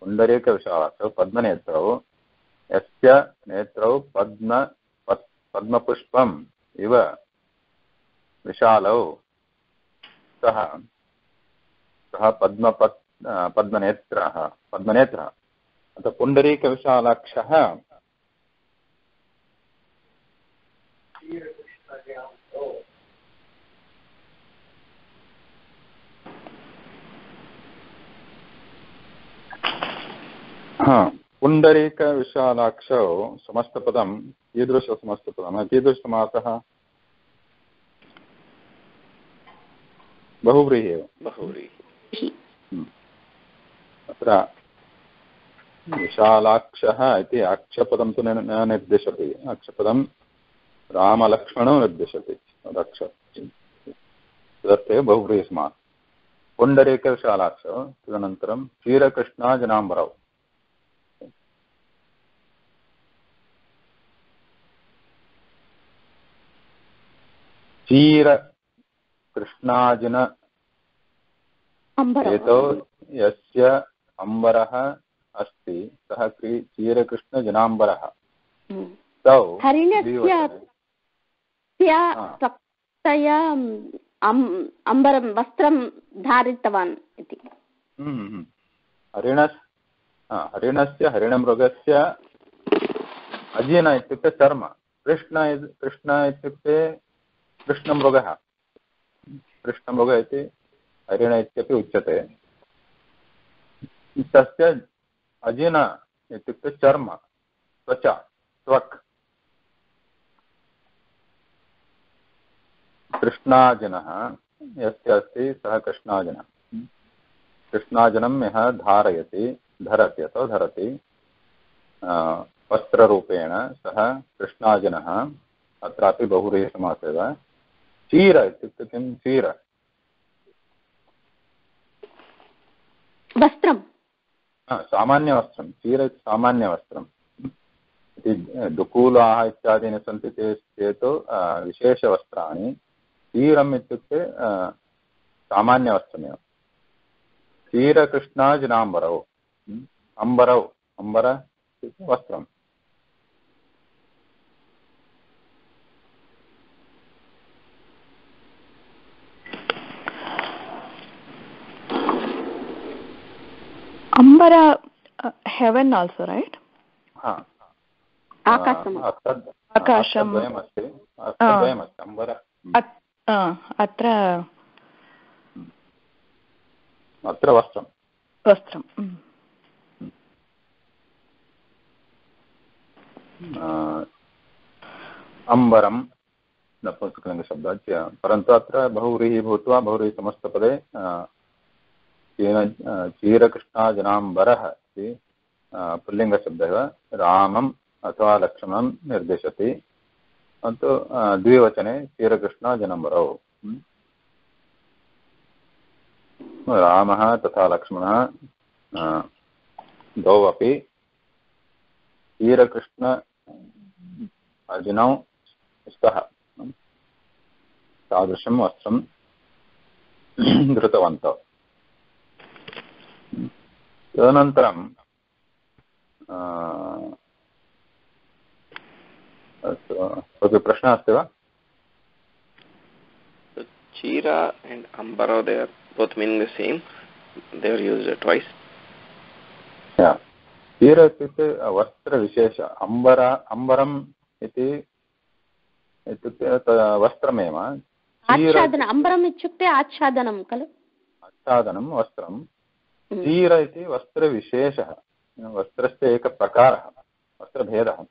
पुण्डरीकविशालाक्षौ पद्मनेत्रौ यस्य नेत्रौ पद्मपुष्पम् इव विशालौ सः पद्मनेत्रः अतः पुण्डरीकविशालाक्षः पुण्डरीकविशालाक्षौ समस्तपदं कीदृशसमस्तपदं कीदृशसमासः बहुव्रीहि एव बहुव्रीहि अत्र विशालाक्षः इति अक्षपदं तु न निर्दिशति अक्षपदं रामलक्ष्मणौ निर्दिशति रक्ष तदर्थमेव बहुव्रीहिसमासः पुण्डरीकविशालाक्षौ तदनन्तरं क्षीरकृष्णाजनाम्बरौ क्षीरकृष्णाजिन हेतौ यस्य अम्बरः अस्ति सः क्षीरकृष्णजनाम्बरः तौ अम्बरं वस्त्रं धारितवान् इति हरिणस्य हरिणमृगस्य अजिन इत्युक्ते चर्म कृष्ण इत्युक्ते कृष्णमृगः इति हरिण इत्यपि उच्यते तस्य अजिन इत्युक्ते चर्म त्वचा त्वक् कृष्णाजिनः यस्य अस्ति सः कृष्णाजिनः कृष्णाजिनं यः धरति अथवा धरति वस्त्ररूपेण सः कृष्णाजिनः अत्रापि बहुव्रीहिसमासः एव क्षीर इत्युक्ते किं क्षीर वस्त्रं सामान्यवस्त्रं क्षीर इति सामान्यवस्त्रम् इति दुकूलाः इत्यादीनि सन्ति चेत् विशेषवस्त्राणि क्षीरम् इत्युक्ते सामान्यवस्त्रमेव क्षीरकृष्णाजिनाम्बरौ अम्बर इत्युक्ते वस्त्रम् Ambara, heaven also, right? आकाशम् आकाशम् अत्र वस्त्रम् अम्बरं नपुंसकलिङ्गशब्दात् परन्तु अत्र बहुव्रीहि भूत्वा बहुव्रीहिसमस्तपदे क्षीरकृष्णाजनाम्बरः इति पुल्लिङ्गशब्दः रामम् अथवा लक्ष्मणं निर्दिशति परन्तु द्विवचने क्षीरकृष्णाजनाम्बरौ रामः तथा लक्ष्मणः द्वौ अपि क्षीरकृष्ण अजिनौ स्तः तादृशं वस्त्रं धृतवन्तौ तदनन्तरं कोऽपि प्रश्नः अस्ति वा Chira and Ambara, they are both meaning the same. They are used twice. Yeah. Chira इत्युक्ते वस्त्रविशेष अम्बरम् इत्युक्ते वस्त्रमेव आच्छादनम् अम्बरम् इत्युक्ते आच्छादनं खलु आच्छादनं वस्त्रं क्षीर इति वस्त्रविशेषः वस्त्रस्य एकः प्रकारः वस्त्रभेदः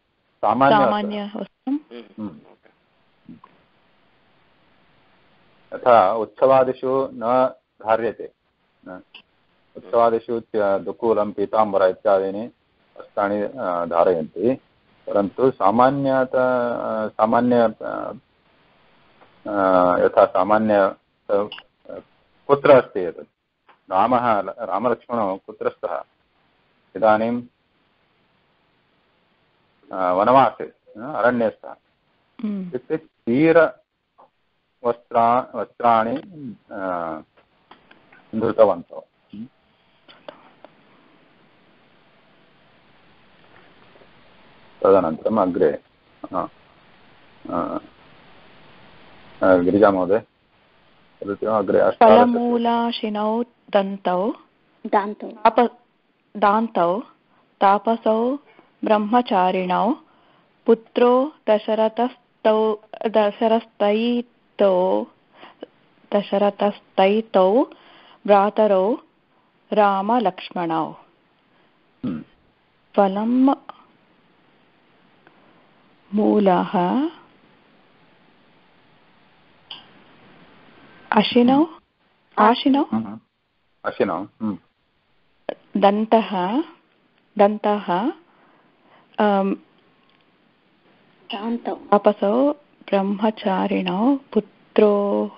सामान्यवस्त्रं यथा उत्सवादिषु न धार्यते उत्सवादिषु दुकूलं पीताम्बर इत्यादीनि वस्त्राणि धारयन्ति परन्तु सामान्य यथा सामान्य कुत्र अस्ति एतत् रामलक्ष्मणौ कुत्र स्तः इदानीं वनवासे अरण्ये स्तः इत्युक्ते क्षीरवस्त्राणि धृतवन्तौ तदनन्तरम् अग्रे गिरिजा महोदय अग्रे फलमूलाशिनौ दान्तौ तापसौ ब्रह्मचारिणौ पुत्रो दशरथस्तैतौ भ्रातरौ रामलक्ष्मणौ फलं मूलः आशिनौ दन्तः दन्तः तापसौ ब्रह्मचारिणौ पुत्रोः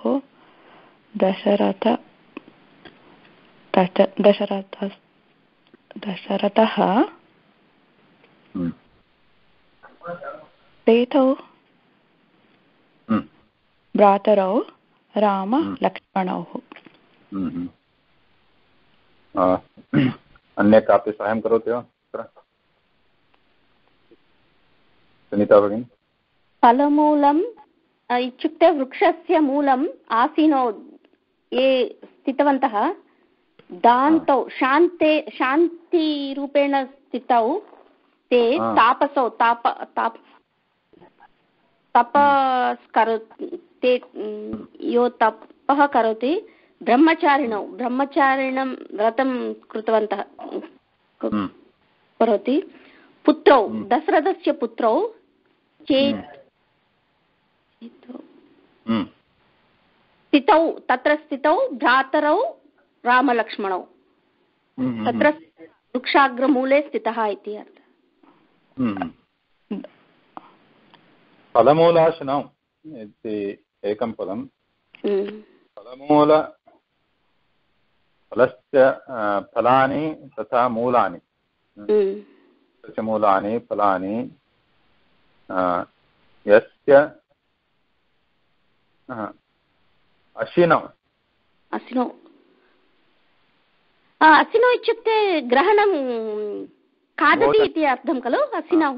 दशरथः सेतौ भ्रातरौ राम लक्ष्मणौ। अन्य कापि साहाय्यं करोति वा सुनीता भगिनी? फलमूलम् इत्युक्ते वृक्षस्य मूलम् आसीनौ ये स्थितवन्तः दान्तौ शान्तिरूपेण स्थितौ ते तापसौ ते यो तपः करोति ब्रह्मचारिणं व्रतं कृतवन्तः करोति पुत्रौ दशरथस्य पुत्रौ तत्र स्थितौ भ्रातरौ रामलक्ष्मणौ तत्र वृक्षाग्रमूले स्थितः इति अर्थः। फलमूलाशनौ इति एकं पदं फलस्य फलानि तथा मूलानि मूलानि फलानि यस्य अशिनौ इत्युक्ते ग्रहणं खादति इति अर्थं खलु असिनौ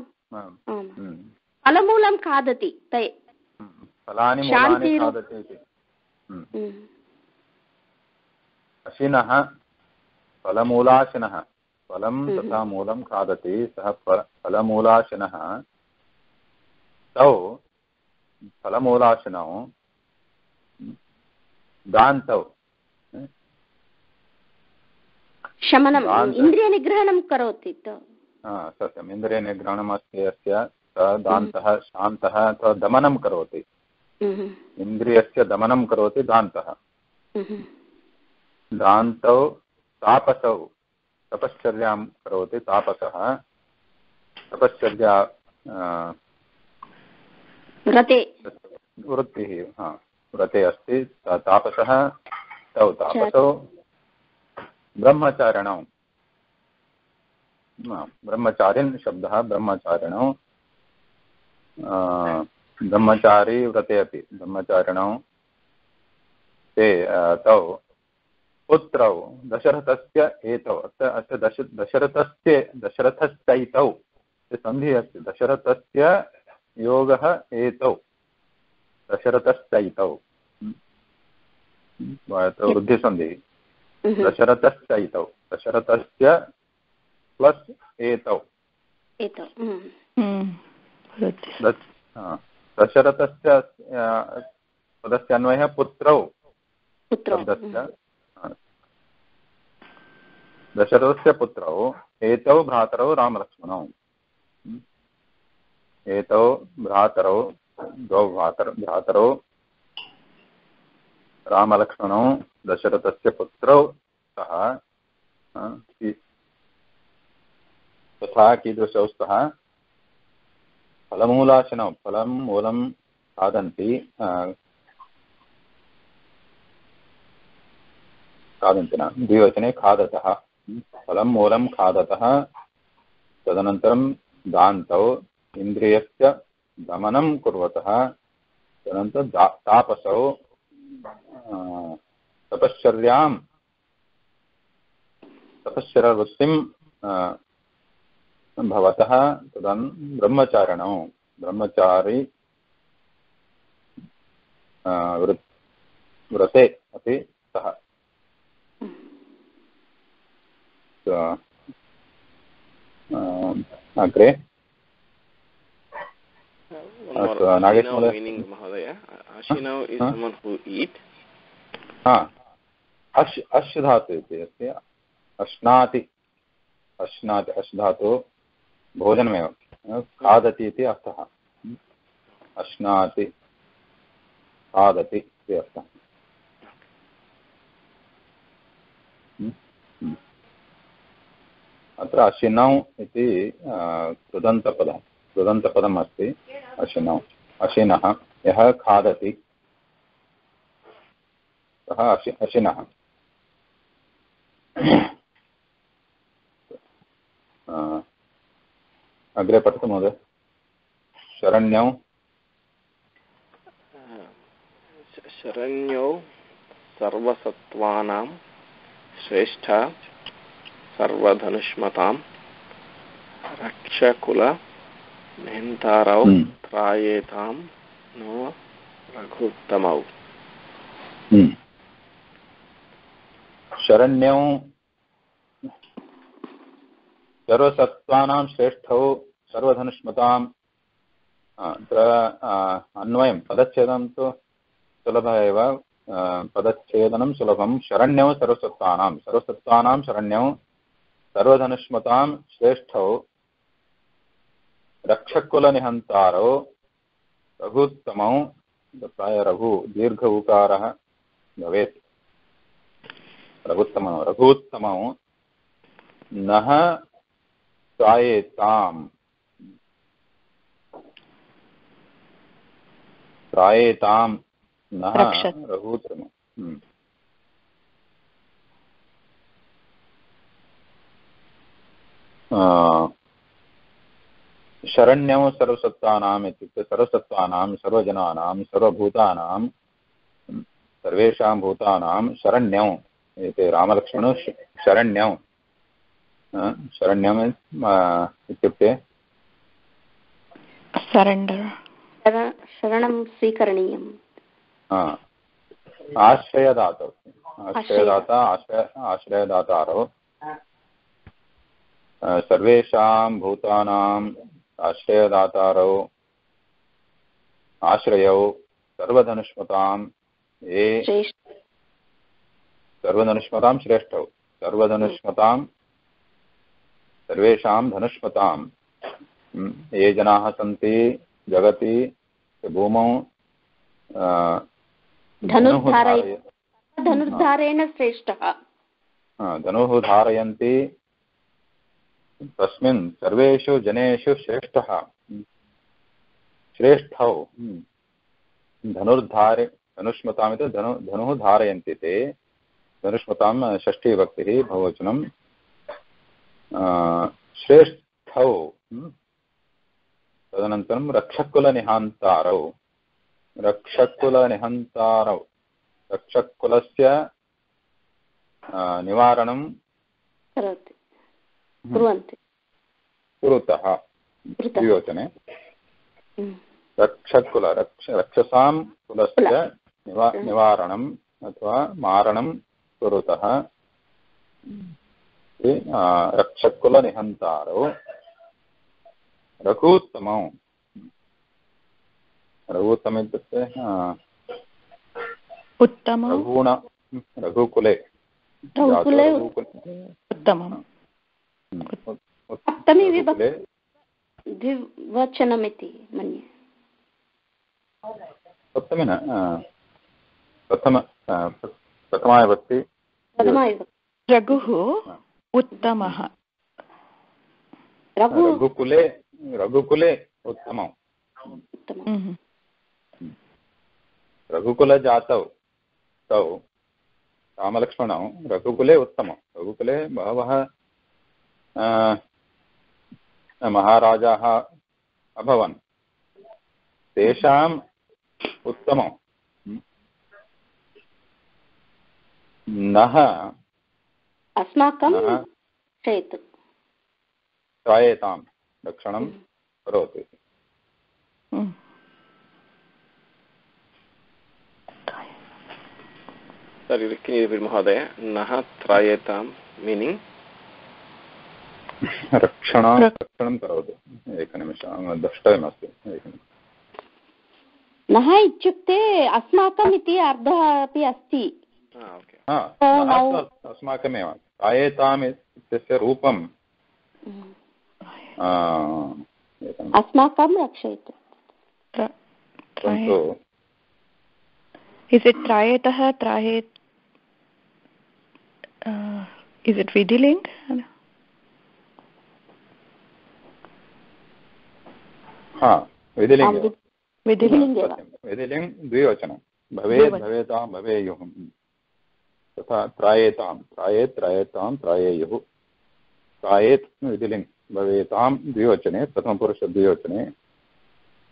फलमूलं खादति ते फलानि मूलानि खादति इति अशिनः फलमूलाशिनः फलं तथा मूलं खादति सः फलमूलाशिनः तौ फलमूलाशिनौ दान्तौ शमनम् इन्द्रियनिग्रहणं करोति सत्यम् इन्द्रियनिग्रहणमस्ति यस्य दान्तः शान्तः अथवा दमनं करोति इन्द्रियस्य दमनं करोति दान्तः दान्तौ तापसौ तपश्चर्यां करोति तापसः तपश्चर्या वृत्तिः व्रते अस्ति तापसः तौ तापसौ ब्रह्मचारिणौ ब्रह्मचारिन् शब्दः ब्रह्मचारिणौ ब्रह्मचारी व्रते अपि ब्रह्मचारिणौ ते तौ पुत्रौ दशरथस्य एतौ अस्य दशरथस्यैतौ सन्धिः अस्ति दशरथस्य योगः एतौ दशरथस्यैतौ वृद्धिसन्धिः दशरथस्यैतौ दशरथस्य प्लस् एतौ दशरथस्य पदस्य अन्वयः पुत्रौ दशरथस्य पुत्रौ एतौ भ्रातरौ रामलक्ष्मणौ एतौ भ्रातरौ द्वौ भ्रातरौ रामलक्ष्मणौ दशरथस्य पुत्रौ स्तः तथा कीदृशौ स्तः फलमूलाशनौ फलं मूलं खादन्ति खादन्ति न द्विवचने खादतः फलं मूलं खादतः तदनन्तरं दान्तौ इन्द्रियस्य दमनं कुर्वतः तदनन्तरं तापसौ तपश्चर्यावृत्तिं भवतः तदन् ब्रह्मचारिणौ ब्रह्मचारी व्रते अपि स्तः अग्रे meaning Mahodaya. Ashinau is someone who eat. अश् धातु इति अस्ति अश्नाति अश् धातु भोजनमेव खादति इति अर्थः अश्नाति खादति इति अर्थः अत्र अशिनौ इति कृदन्तपदम् अस्ति। अशिनौ, अशिनः, यः खादति सः अशिनः। अग्रे पठतु महोदय। शरण्यौ शरण्यौ सर्वसत्त्वानां श्रेष्ठा सर्वधनुष्मतां रक्षकुल निहन्तारौ त्रायेतां नो रघुत्तमौ। शरण्यौ सर्वसत्त्वानां श्रेष्ठौ सर्वधनुष्मताम्। अत्र अन्वयं पदच्छेदनं तु सुलभः एव। पदच्छेदनं सुलभं। शरण्यौ सर्वसत्त्वानां शरण्यौ सर्वधनुष्मतां श्रेष्ठौ रक्षकुलनिहन्तारौ रघुत्तमौ। प्राय रघु दीर्घ उकारः भवेत्। रघुत्तमौ नः त्रायेताम् नः रघुत्तमम्। शरण्यौ सर्वसत्त्वानाम् इत्युक्ते सर्वसत्त्वानां सर्वजनानां सर्वभूतानां सर्वेषां भूतानां शरण्यौ इति रामलक्ष्मणौ शरण्यौ। शरण्यम् इत्युक्ते शरणं स्वीकरणीयम्। आश्रयदातौ, आश्रयदातारौ सर्वेषां भूतानाम् आश्रयदातारौ आश्रयौ सर्वधनुष्मतां ये सर्वधनुष्मतां श्रेष्ठौ सर्वधनुष्मतां सर्वेषां धनुष्मतां ये जनाः सन्ति जगति भूमौ धनुर्धारेण श्रेष्ठः धनुः धारयन्ति तस्मिन् सर्वेषु जनेषु श्रेष्ठः श्रेष्ठौ धनुष्मतामिति धनुः धारयन्ति ते। धनुष्मतां षष्ठी विभक्तिः बहुवचनं। श्रेष्ठौ तदनन्तरं रक्षकुलनिहन्तारौ रक्षकुलस्य निवारणं कुरुतः द्विवचने। रक्षसां कुलस्य निवारणम् अथवा मारणं कुरुतः रक्षकुलनिहन्तारौ रघुत्तमौ। रघुत्तम इत्युक्ते रघुकुले उत्तमम् द्विवचनमिति मन्ये। सप्तमी न प्रथमा विभक्ति। रघुः उत्तमः। रघुकुले उत्तमौ। रघुकुलजातौ तौ रामलक्ष्मणौ रघुकुले उत्तमौ। रघुकुले बहवः महाराजाः अभवन् तेषाम् उत्तमौ। नः अस्माकं त्रायेतां रक्षणं करोति। महोदय नः त्रायेतां मीनिङ्ग् रक्षणं करोतु। एकनिमिषं द्रष्टव्यमस्ति। नः इत्युक्ते अस्माकम् इति अर्थः अपि अस्ति। अस्माकमेव त्रायेताम् इत्यस्य रूपं अस्माकं रक्षयतु। Is it trayetah is it vidiling? विधिलिङ्गे विधिलिङ्गे वा? विधिलिङ्ग् द्विवचनं भवेत् भवेतां भवेयुः तथा त्रायेतां त्रायेत् त्रायेतां त्रायेयुः त्रायेत् विधिलिङ्ग् भवेतां द्विवचने प्रथमपुरुषद्विवचने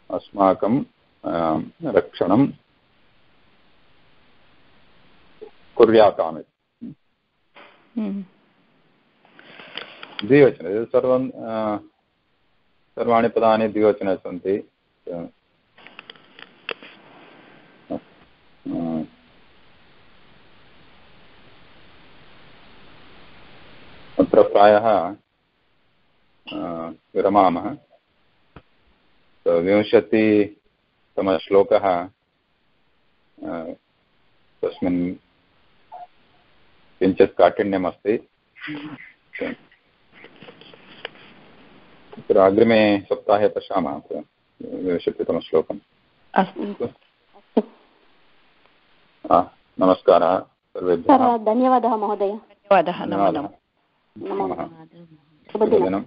अस्माकं रक्षणं कुर्याताम् द्विवचने सर्वाणि पदानि द्विवचने सन्ति अत्र प्रायः विरमामः 20तमश्लोकः तस्मिन् किञ्चित् काठिन्यमस्ति तत्र अग्रिमे सप्ताहे पश्यामः 20तमश्लोकम् अस्तु नमस्कारः सर्वेभ्यः धन्यवादः महोदय धन्यवादः नमो नमः नमः शुभदिनम्